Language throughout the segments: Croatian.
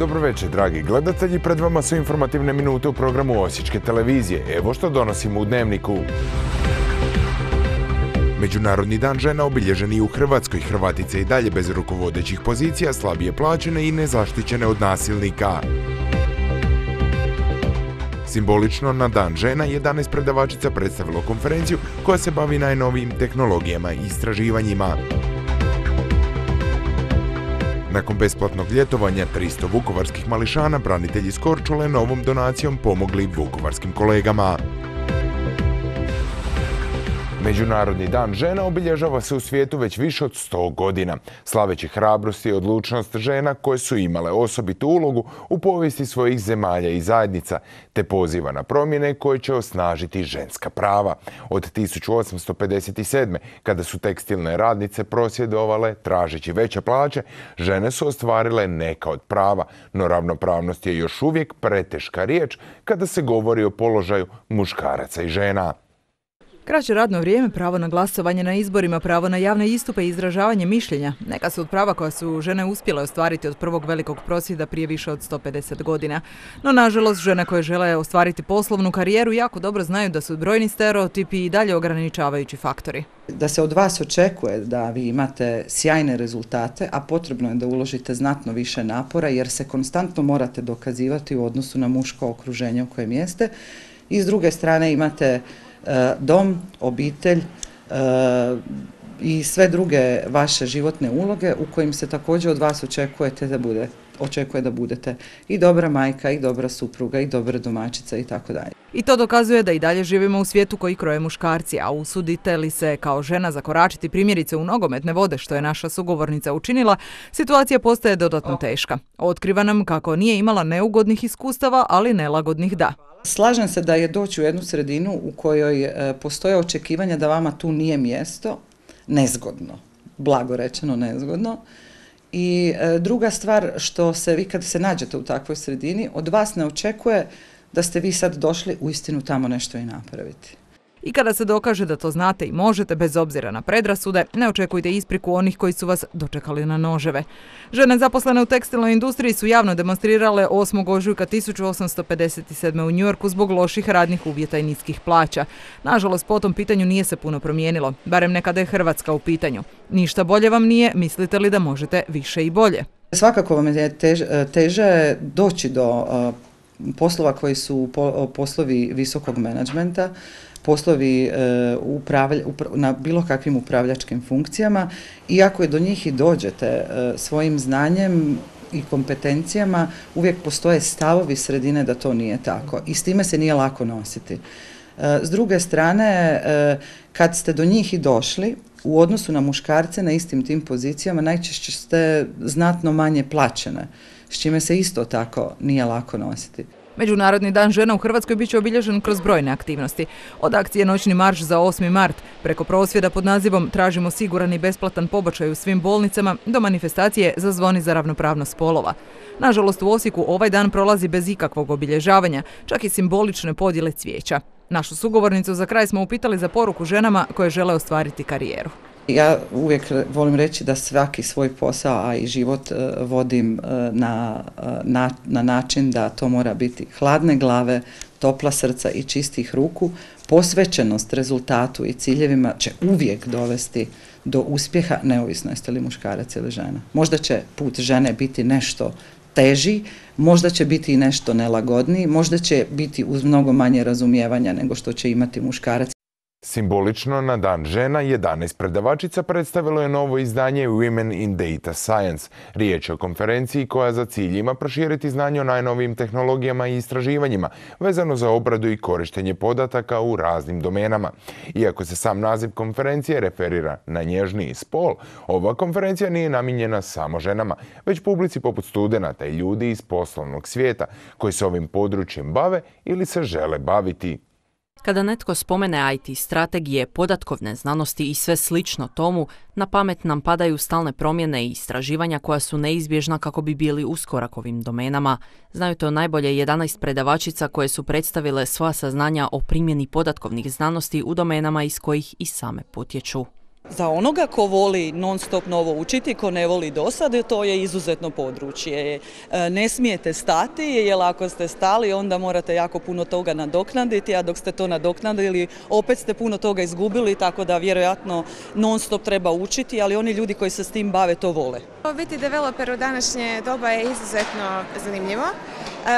Dobro večer, dragi gledatelji. Pred vama su informativne minute u programu Osječke televizije. Evo što donosimo u dnevniku. Međunarodni dan žena obilježen i u Hrvatskoj. Hrvatice i dalje bez rukovodećih pozicija, slabije plaćene i nezaštićene od nasilnika. Simbolično na Dan žena 11 predavačica predstavilo konferenciju koja se bavi najnovijim tehnologijama i istraživanjima. Nakon besplatnog ljetovanja 300 vukovarskih mališana branitelji iz Korčule novom donacijom pomogli vukovarskim kolegama. Međunarodni dan žena obilježava se u svijetu već više od 100 godina, slaveći hrabrost i odlučnost žena koje su imale osobitu ulogu u povijesti svojih zemalja i zajednica, te poziva na promjene koje će osnažiti ženska prava. Od 1857. kada su tekstilne radnice prosvjedovale tražeći veće plaće, žene su ostvarile neka od prava, no ravnopravnost je još uvijek preteška riječ kada se govori o položaju muškaraca i žena. Kraće radno vrijeme, pravo na glasovanje na izborima, pravo na javne istupe i izražavanje mišljenja neka su od prava koja su žene uspjele ostvariti od prvog velikog prosvjeda prije više od 150 godina. No, nažalost, žene koje žele ostvariti poslovnu karijeru jako dobro znaju da su brojni stereotipi i dalje ograničavajući faktori. Da se od vas očekuje da vi imate sjajne rezultate, a potrebno je da uložite znatno više napora jer se konstantno morate dokazivati u odnosu na muško okruženje u kojem jeste. I s druge strane imate dom, obitelj i sve druge vaše životne uloge u kojim se također od vas očekuje da budete i dobra majka, i dobra supruga, i dobra domaćica i tako dalje. I to dokazuje da i dalje živimo u svijetu koji kroje muškarci, a usudite li se kao žena zakoračiti primjerice u nogometne vode, što je naša sugovornica učinila, situacija postaje dodatno teška. Otkriva nam kako nije imala neugodnih iskustava, ali nelagodnih da. Slažem se da je doći u jednu sredinu u kojoj postoje očekivanja da vama tu nije mjesto, nezgodno, blago rečeno nezgodno. I druga stvar, što se vi kad se nađete u takvoj sredini, od vas ne očekuje da ste vi sad došli uistinu tamo nešto i napraviti. I kada se dokaže da to znate i možete, bez obzira na predrasude, ne očekujte ispriku onih koji su vas dočekali na noževe. Žene zaposlene u tekstilnoj industriji su javno demonstrirale 8. ožujka 1857. u Njujorku zbog loših radnih uvjeta i niskih plaća. Nažalost, po tom pitanju nije se puno promijenilo, barem ne kada je Hrvatska u pitanju. Ništa bolje vam nije, mislite li da možete više i bolje? Svakako vam je teže doći do poslova koji su poslovi visokog menadžmenta, poslovi na bilo kakvim upravljačkim funkcijama, i ako do njih i dođete svojim znanjem i kompetencijama, uvijek postoje stavovi sredine da to nije tako i s time se nije lako nositi. S druge strane, kad ste do njih i došli, u odnosu na muškarce na istim tim pozicijama najčešće ste znatno manje plaćene, s čime se isto tako nije lako nositi. Međunarodni dan žena u Hrvatskoj bit će obilježen kroz brojne aktivnosti. Od akcije Noćni marš za 8. mart, preko prosvjeda pod nazivom Tražimo siguran i besplatan pobačaj u svim bolnicama, do manifestacije Zazvoni za ravnopravnost spolova. Nažalost, u Osijeku ovaj dan prolazi bez ikakvog obilježavanja, čak i simbolične podjele cvijeća. Našu sugovornicu za kraj smo upitali za poruku ženama koje žele ostvariti karijeru. Ja uvijek volim reći da svaki svoj posao, a i život vodim na način da to mora biti hladne glave, topla srca i čistih ruku. Posvećenost rezultatu i ciljevima će uvijek dovesti do uspjeha, neovisno jeste li muškarac ili žena. Možda će put žene biti nešto teži, možda će biti i nešto nelagodniji, možda će biti uz mnogo manje razumijevanja nego što će imati muškarac. Simbolično na Dan žena 11 predavačica predstavilo je novo izdanje Women in Data Science. Riječ je o konferenciji koja za cilj ima proširiti znanje o najnovijim tehnologijama i istraživanjima vezano za obradu i korištenje podataka u raznim domenama. Iako se sam naziv konferencije referira na nježniji spol, ova konferencija nije namijenjena samo ženama, već publici poput studenata i ljudi iz poslovnog svijeta koji se ovim područjem bave ili se žele baviti. Kada netko spomene IT, strategije, podatkovne znanosti i sve slično tomu, na pamet nam padaju stalne promjene i istraživanja koja su neizbježna kako bi bili uskorak ovim domenama. Znaju to najbolje 11 predavačica koje su predstavile svoja saznanja o primjeni podatkovnih znanosti u domenama iz kojih i same potječu. za onoga ko voli non stop novo učiti, ko ne voli dosad, to je izuzetno područje. Ne smijete stati, jer ako ste stali onda morate jako puno toga nadoknaditi, a dok ste to nadoknadili opet ste puno toga izgubili, tako da vjerojatno non stop treba učiti, ali oni ljudi koji se s tim bave to vole. Biti developer u današnje doba je izuzetno zanimljivo.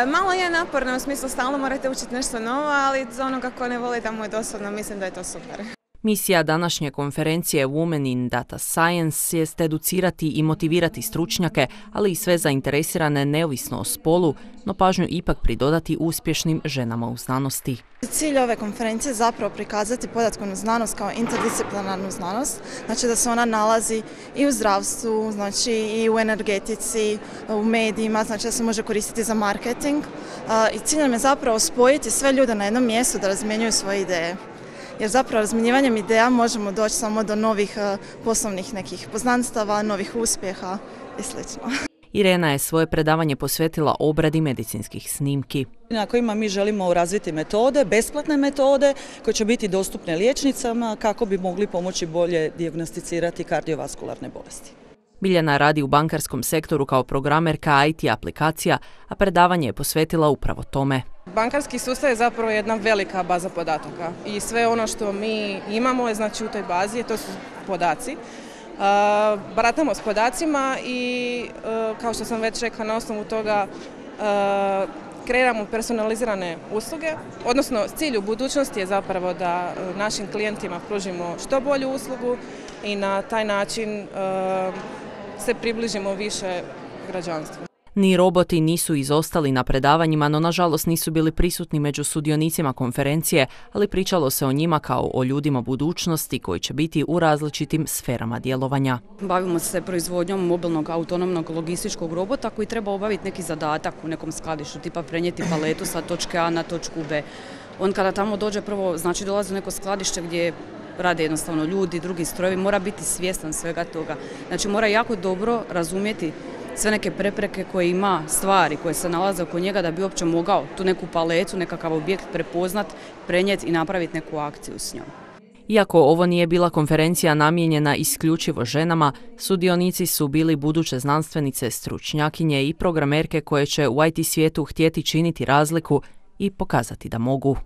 Malo je naporno, u smislu stalno morate učiti nešto novo, ali za onoga ko ne voli da mu je dosadno, mislim da je to super. Misija današnje konferencije Women in Data Science jest educirati i motivirati stručnjake, ali i sve zainteresirane neovisno o spolu, no pažnju ipak pridodati uspješnim ženama u znanosti. Cilj ove konferencije je zapravo prikazati podatkovnu znanost kao interdisciplinarnu znanost, znači da se ona nalazi i u zdravstvu, znači i u energetici, u medijima, znači da se može koristiti za marketing. I cilj nam je zapravo spojiti sve ljude na jednom mjestu da razmjenjuju svoje ideje. Jer zapravo razmjenjivanjem ideja možemo doći samo do novih poslovnih nekih poznanstava, novih uspjeha i sl. Irena je svoje predavanje posvetila obradi medicinskih snimki. Na kojima mi želimo razviti metode, besplatne metode koje će biti dostupne liječnicama kako bi mogli pomoći bolje dijagnosticirati kardiovaskularne bolesti. Biljana radi u bankarskom sektoru kao programerka IT aplikacija, a predavanje je posvetila upravo tome. Bankarski sustav je zapravo jedna velika baza podataka i sve ono što mi imamo je znači u toj bazi, to su podaci. Baratamo s podacima i kao što sam već rekla, na osnovu toga kreiramo personalizirane usluge, odnosno cilj u budućnosti je zapravo da našim klijentima pružimo što bolju uslugu i na taj način se približimo više građanstvu. Ni roboti nisu izostali na predavanjima, no nažalost nisu bili prisutni među sudionicima konferencije, ali pričalo se o njima kao o ljudima budućnosti koji će biti u različitim sferama djelovanja. Bavimo se proizvodnjom mobilnog autonomnog logističkog robota koji treba obaviti neki zadatak u nekom skladištu, tipa prenijeti paletu sa točke A na točku B. On kada tamo dođe prvo, znači dolazi u neko skladište gdje rade jednostavno ljudi, drugi strojevi, mora biti svjestan svega toga. Znači mora jako dobro razumjeti sve neke prepreke koje ima, stvari koje se nalaze oko njega da bi uopće mogao tu neku paletu, nekakav objekt prepoznat, prenijeti i napraviti neku akciju s njom. Iako ovo nije bila konferencija namijenjena isključivo ženama, sudionici su bili buduće znanstvenice, stručnjakinje i programerke koje će u IT svijetu htjeti činiti razliku i pokazati da mogu.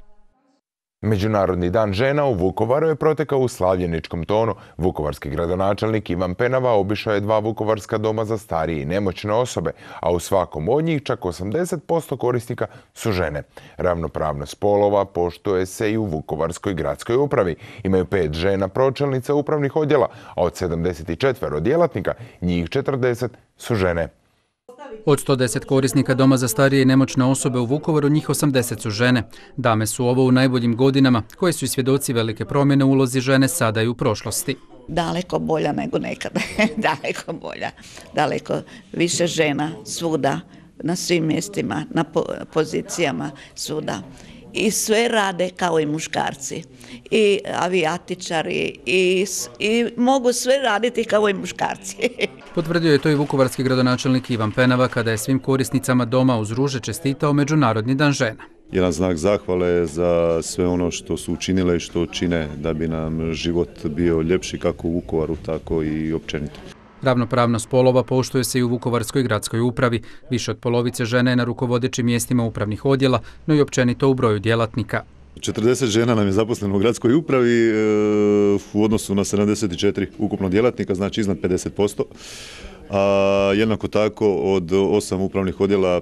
Međunarodni dan žena u Vukovaru je protekao u slavljeničkom tonu. Vukovarski gradonačelnik Ivan Penava obišao je 2 vukovarska doma za starije i nemoćne osobe, a u svakom od njih čak 80% korisnika su žene. Ravnopravnost spolova poštuje se i u Vukovarskoj gradskoj upravi. Imaju 5 žena pročelnica upravnih odjela, a od 74 djelatnika njih 40 su žene. Od 110 korisnika doma za starije i nemoćne osobe u Vukovaru, njih 80 su žene. Dame su ovo u najboljim godinama, koje su i svjedoci velike promjene u ulozi žene sada i u prošlosti. Daleko bolja nego nekada, daleko bolja, daleko više žena svuda, na svim mjestima, na pozicijama svuda. I sve rade kao i muškarci, i avijatičari, i mogu sve raditi kao i muškarci. Potvrdio je to i vukovarski gradonačelnik Ivan Penava kada je svim korisnicama doma uz ruže čestitao Međunarodni dan žena. Jedan znak zahvale za sve ono što su učinile i što čine da bi nam život bio ljepši kako u Vukovaru, tako i općenito. Ravnopravnost spolova poštuje se i u Vukovarskoj gradskoj upravi. Više od polovice žena je na rukovodećim mjestima upravnih odjela, no i općenito u broju djelatnika. 40 žena nam je zaposleno u gradskoj upravi u odnosu na 74 ukupno djelatnika, znači iznad 50%. A jednako tako od 8 upravnih odjela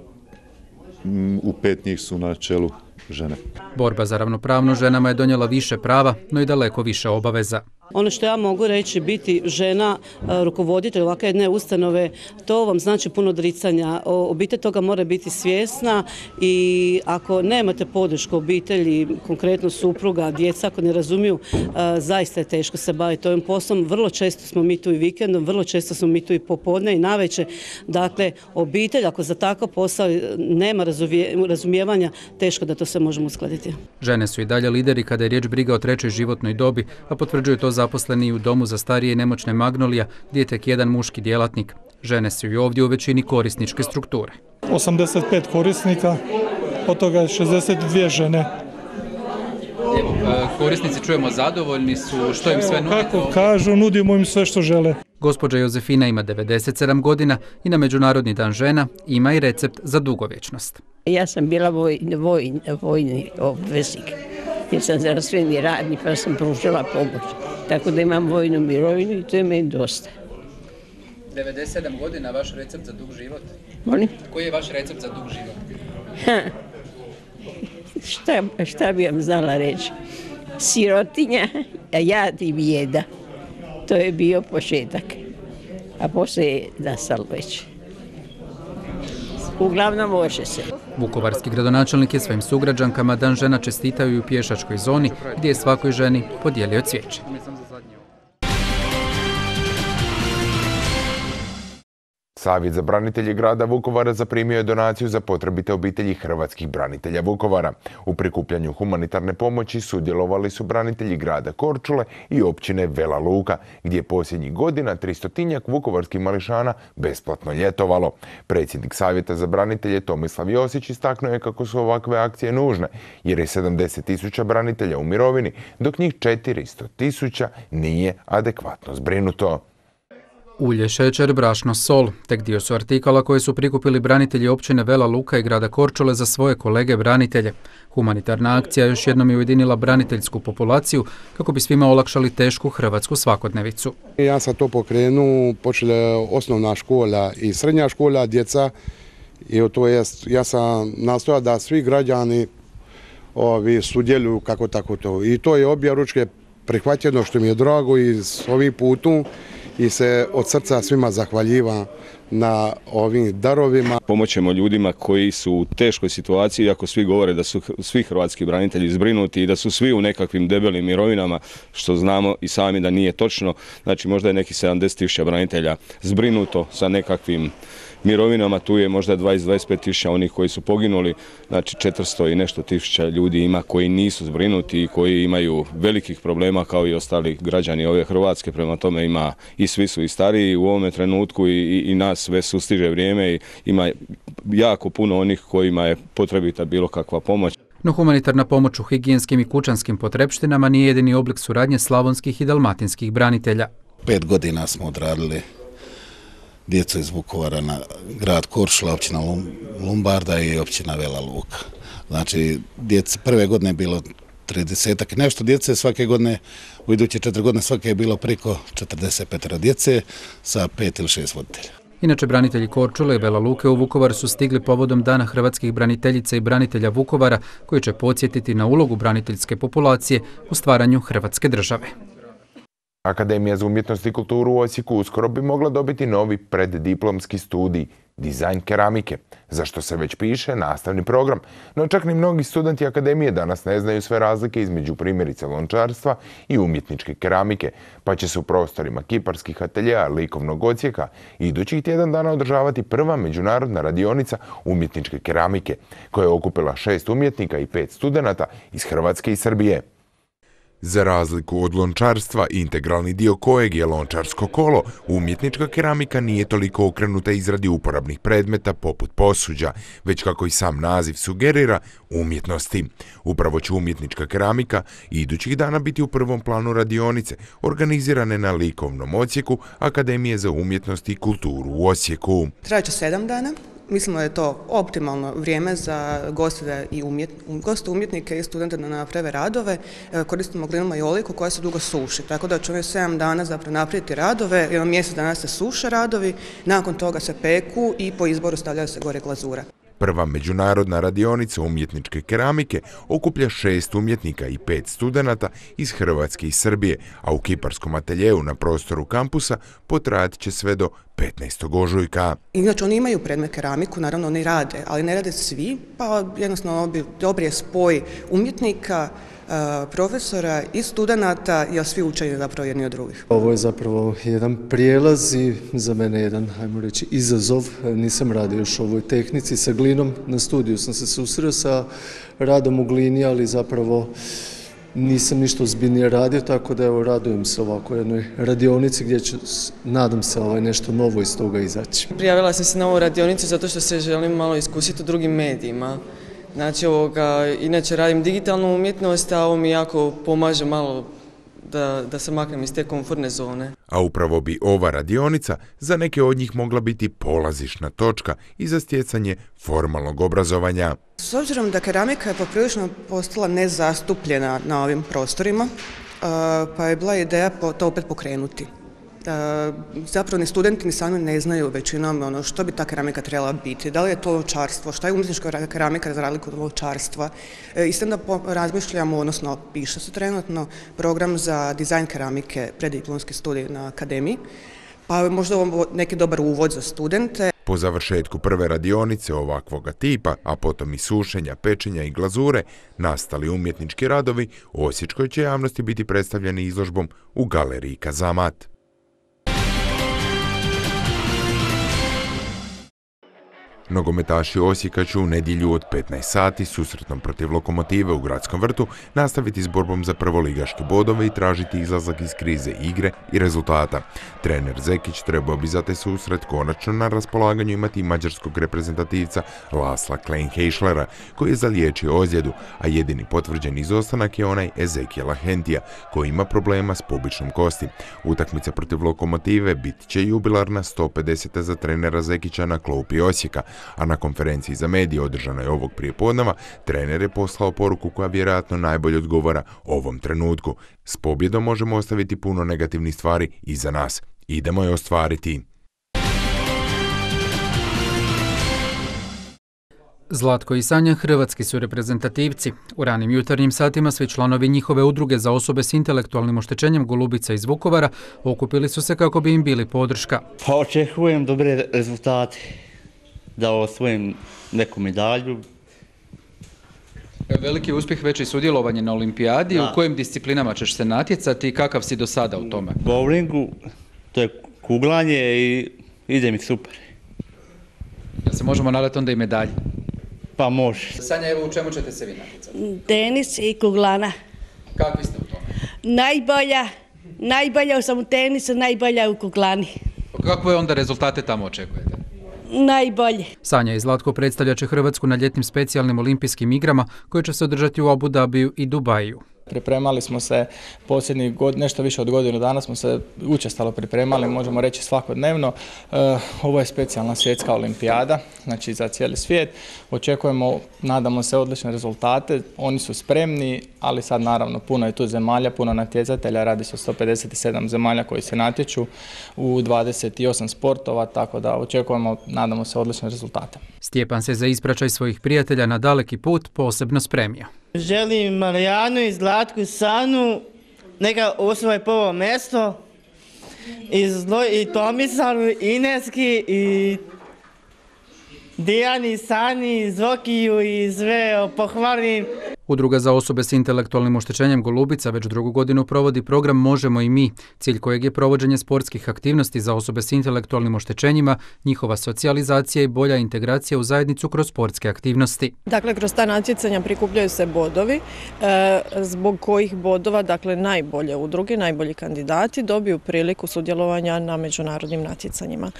u 5 njih su na čelu žene. Borba za ravnopravnost ženama je donijela više prava, no i daleko više obaveza. Ono što ja mogu reći, biti žena, rukovoditelj ovakve jedne ustanove, to vam znači puno odricanja. Obitelj toga mora biti svjesna i ako nemate podršku obitelji, konkretno supruga, djeca, ako ne razumiju, zaista je teško se baviti ovim poslom. Vrlo često smo mi tu i vikendom, vrlo često smo mi tu i popodne i navečer. Dakle, obitelj, ako za takav posao nema razumijevanja, teško da to sve možemo uskladiti. Žene su i dalje lideri kada je riječ briga o trećoj životnoj dobi, a potvrđuju to zaposleni u domu za starije i nemoćne Magnolija, gdje je tek jedan muški djelatnik. Žene su i ovdje u većini korisničke strukture. 85 korisnika, od toga je 62 žene. korisnici čujemo zadovoljni su, što im sve nudite? Kako kažu, nudimo im sve što žele. Gospođa Jozefina ima 97 godina i na Međunarodni dan žena ima i recept za dugovječnost. Ja sam bila vojni obveznik, jer sam zdravstveni radnik pa sam pružila pomoć. Tako da imam vojnu mirovinu i to je meni dosta. 97 godina, vaš recept za dug život? Molim? Koji je vaš recept za dug život? Šta bi vam znala reći? Sirotinja, jad i bijeda. To je bio početak. A poslije je nastalo već. Uglavnom može se. Vukovarski gradonačelnik je svojim sugrađankama Dan žena čestitao i u pješačkoj zoni gdje je svakoj ženi podijelio cvijeće. Savjet za branitelje grada Vukovara zaprimio je donaciju za potrebite obitelji hrvatskih branitelja Vukovara. U prikupljanju humanitarne pomoći sudjelovali su branitelji grada Korčule i općine Vela Luka, gdje je posljednjih godina 300-tinjak vukovarskih mališana besplatno ljetovalo. Predsjednik Savjeta za branitelje Tomislav Josić istaknuo je kako su ovakve akcije nužne, jer je 70.000 branitelja u mirovini, dok njih 400.000 nije adekvatno zbrinuto. Ulje, šećer, brašno, sol. Tek dio su artikala koje su prikupili branitelji općine Vela Luka i grada Korčule za svoje kolege branitelje. Humanitarna akcija još jednom je ujedinila braniteljsku populaciju kako bi svima olakšali tešku hrvatsku svakodnevicu. Ja sam to pokrenuo, počela osnovna škola i srednja škola, djeca. I to jest, ja sam nastojao da svi građani sudjeluju kako tako to. I to je obje ručke prihvaćeno, što mi je drago, i s ovim putom i se od srca svima zahvaljivam na ovim darovima. Pomoćemo ljudima koji su u teškoj situaciji, iako svi govore da su svi hrvatski branitelji zbrinuti i da su svi u nekakvim debelim mirovinama, što znamo i sami da nije točno. Znači možda je nekih 70.000 branitelja zbrinuto sa nekakvim mirovinama, tu je možda 20-25.000 onih koji su poginuli, znači 400 i nešto tisuća ljudi ima koji nisu zbrinuti i koji imaju velikih problema kao i ostali građani ove Hrvatske, prema tome ima i svi su i stariji u ovome trenutku i nas sve sustiže vrijeme i ima jako puno onih kojima je potrebita bilo kakva pomoć. No humanitarna pomoć u higijenskim i kućanskim potrepštinama nije jedini oblik suradnje slavonskih i dalmatinskih branitelja. 5 godina smo odradili djecu iz Vukovara na grad Korčula, općina Lombarda i općina Vela Luka. Znači, prve godine je bilo 30-ak i nešto djece, svake godine, u iduće 4 godine svake je bilo preko 45 djece sa 5 ili 6 voditelja. Inače, branitelji Korčule i Vela Luke u Vukovar su stigli povodom Dana hrvatskih braniteljica i branitelja Vukovara, koji će podsjetiti na ulogu braniteljske populacije u stvaranju Hrvatske države. Akademija za umjetnost i kulturu u Osijeku uskoro bi mogla dobiti novi preddiplomski studij dizajn keramike, za što se već piše nastavni program. No čak ni mnogi studenti akademije danas ne znaju sve razlike između primjerice lončarstva i umjetničke keramike, pa će se u prostorima kiparskih ateljeja likovnog odsjeka idućih tjedan dana održavati prva međunarodna radionica umjetničke keramike, koja je okupila 6 umjetnika i 5 studenata iz Hrvatske i Srbije. Za razliku od lončarstva, integralni dio kojeg je lončarsko kolo, umjetnička keramika nije toliko okrenuta izradi uporabnih predmeta poput posuđa, već kako i sam naziv sugerira, umjetnosti. Upravo će umjetnička keramika idućih dana biti u prvom planu radionice, organizirane na likovnom odsjeku Akademije za umjetnost i kulturu u Osijeku. Trajaće 7 dana. Mislimo da je to optimalno vrijeme za goste umjetnike i studente da naprave radove. Koristimo glinu majoliku koja se dugo suši, tako da će ovih 7 dana zapravo napraviti radove, jedno mjesec dana se suše radovi, nakon toga se peku i po izboru stavljaju se gore glazura. Prva međunarodna radionica umjetničke keramike okuplja 6 umjetnika i 5 studenata iz Hrvatske i Srbije, a u kiparskom ateljeju na prostoru kampusa potrajat će sve do 15. ožujka. Inače, oni imaju predmet keramiku, naravno oni rade, ali ne rade svi, pa jednostavno dobri je spoj umjetnika, profesora i studenata, jer svi uče zapravo jedni od drugih. Ovo je zapravo jedan prijelaz i za mene jedan, ajmo reći, izazov. Nisam radio još u ovoj tehnici sa glinom. Na studiju sam se susreo sa radom u glini, ali zapravo nisam ništa ozbiljnije radio, tako da evo radujem se ovako jednoj radionici gdje će, nadam se, nešto novo iz toga izaći. Prijavila sam se na ovu radionicu zato što se želim malo iskusiti u drugim medijima. Znači, inače radim digitalnu umjetnost, a ovo mi jako pomaže malo da se maknem iz te komfortne zone. A upravo bi ova radionica za neke od njih mogla biti polazišna točka i za stjecanje formalnog obrazovanja. S obzirom da keramika je poprilično postala nezastupljena na ovim prostorima, pa je bila ideja to opet pokrenuti. Zapravo ni studenti ni sami ne znaju većinom što bi ta keramika trebala biti. Da li je to lovčarstvo, šta je umjetnička keramika za razliku od lovčarstva. Isto da razmišljamo, odnosno piše se trenutno program za dizajn keramike, preddiplomski studij na akademiji, pa možda ovo neki dobar uvod za studente. Po završetku prve radionice ovakvoga tipa, a potom i sušenja, pečenja i glazure, nastali umjetnički radovi osječkoj će javnosti biti predstavljeni izložbom u galeriji Kazamat. Nogometaši Osijeka će u nedjelju od 15 sati susretnom protiv Lokomotive u Gradskom vrtu nastaviti s borbom za prvoligaške bodove i tražiti izlazak iz krize igre i rezultata. Trener Zekić trebao bi za taj susret konačno na raspolaganju imati mađarskog reprezentativca Lasla Kleinheischlera, koji je zaliječio ozljedu, a jedini potvrđen izostanak je onaj Ezekijela Hentija, koji ima problema s pubičnom kosti. Utakmica protiv Lokomotive bit će jubilarna 150. za trenera Zekića na klupi Osijeka, a na konferenciji za medije održanoj ovog prijepodneva trener je poslao poruku koja vjerojatno najbolje odgovara ovom trenutku. S pobjedom možemo ostaviti puno negativnih stvari iza nas. Idemo je ostvariti. Zlatko i Sanja hrvatski su reprezentativci. U ranim jutarnjim satima svi članovi njihove udruge za osobe s intelektualnim oštećenjem Golubica iz Vukovara okupili su se kako bi im bili podrška. Pa očekujem dobre rezultate, da osvojim neku medalju. Veliki uspjeh već i sudjelovanje na olimpijadi. Da. U kojim disciplinama ćeš se natjecati i kakav si do sada u tome? U bowlingu, to je kuglanje i ide mi super. Da se možemo nadati onda i medalje? Pa može. Sanja, evo u čemu ćete se vi natjecati? Tenis i kuglana. Kakvi ste u tome? Najbolja sam u tenisu, najbolja u kuglani. Kakve onda rezultate tamo očekujete? Najbolje. Sanja i Zlatko predstavljat će Hrvatsku na ljetnim specijalnim olimpijskim igrama koje će se održati u Abu Dhabiju i Dubaju. Pripremali smo se posljednjih nešto više od godinu dana, smo se učestalo pripremali, možemo reći svakodnevno. Ovo je specijalna svjetska olimpijada, znači za cijeli svijet. Očekujemo, nadamo se, odlične rezultate. Oni su spremni, ali sad naravno puno je tu zemalja, puno natjecatelja. Radi se o 157 zemalja koji se natječu u 28 sportova, tako da očekujemo, nadamo se, odlične rezultate. Stjepan se za ispraćaj svojih prijatelja na daleki put posebno spremio. Želim Marijanu i Zlatku i Sanu, neka osvoje prvo mjesto, i Tomislavu, Ineski, i Dijani, Sani, Zokiju i sve pohvalim. Udruga za osobe s intelektualnim oštećenjem Golubica već drugu godinu provodi program Možemo i mi, cilj kojeg je provođenje sportskih aktivnosti za osobe s intelektualnim oštećenjima, njihova socijalizacija i bolja integracija u zajednicu kroz sportske aktivnosti. Dakle, kroz ta natjecanja prikupljaju se bodovi, zbog kojih bodova, dakle, najbolje udruge, najbolji kandidati dobiju priliku sudjelovanja na međunarodnim natjecanjima.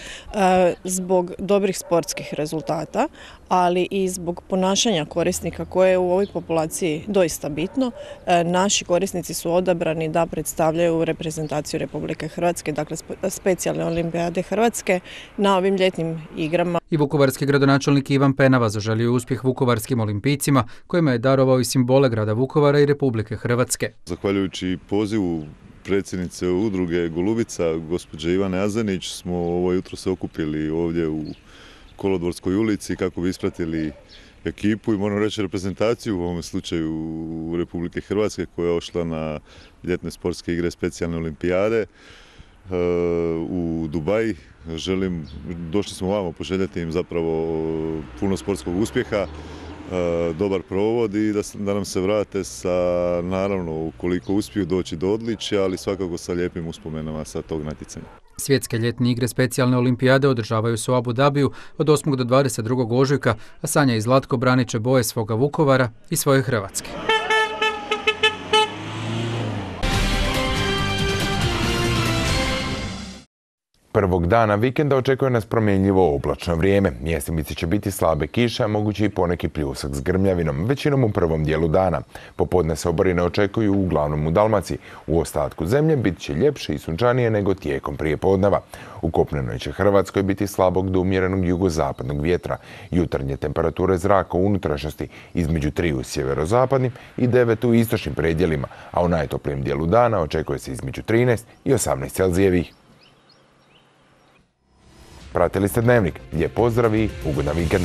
Zbog dobrih sportskih rezultata, ali i zbog ponašanja korisnika koje je u ovoj populaciji doista bitno, naši korisnici su odabrani da predstavljaju reprezentaciju Republike Hrvatske, dakle specijalne olimpijade Hrvatske na ovim ljetnim igrama. I vukovarski gradonačelnik Ivan Penava zaželio uspjeh vukovarskim olimpijcima kojima je darovao i simbole grada Vukovara i Republike Hrvatske. Zahvaljujući pozivu predsjednice udruge Golubica, gospođe Ivane Azanić, smo ovo jutro se okupili ovdje u Kolodvorskoj ulici kako bi ispratili ekipu i moram reći reprezentaciju u ovom slučaju Republike Hrvatske koja je ošla na ljetne sportske igre specijalne olimpijade u Dubaji. Došli smo ovamo poželjeti im zapravo puno sportskog uspjeha, dobar provod i da nam se vrate sa, naravno, ukoliko uspiju doći do odličja, ali svakako sa lijepim uspomenama sa tog natjecanja. Svjetske ljetne igre specijalne olimpijade održavaju se u Abu Dhabiju od 8. do 22. ožujka, a Sanja i Zlatko branit će boje svoga Vukovara i svoje Hrvatske. Prvog dana vikenda očekuje nas promjenjivo oblačno vrijeme. Mjestimice će biti slabe kiše, a mogući i poneki pljusak s grmljavinom, većinom u prvom dijelu dana. Popodne se oborine očekuju uglavnom u Dalmaciji. U ostatku zemlje bit će ljepše i sunčanije nego tijekom prijepodneva. U kopnenoj će Hrvatskoj biti slabog do umjerenog jugozapadnog vjetra. Jutarnje temperature zraka u unutrašnjosti između 3 u sjeverozapadnim i 9 u istočnim predjelima, a u najtoplijem dijelu dana očekuje se između 13 i 18 Celzijevih. Pratili ste Dnevnik. Lijep pozdrav i ugodan vikend.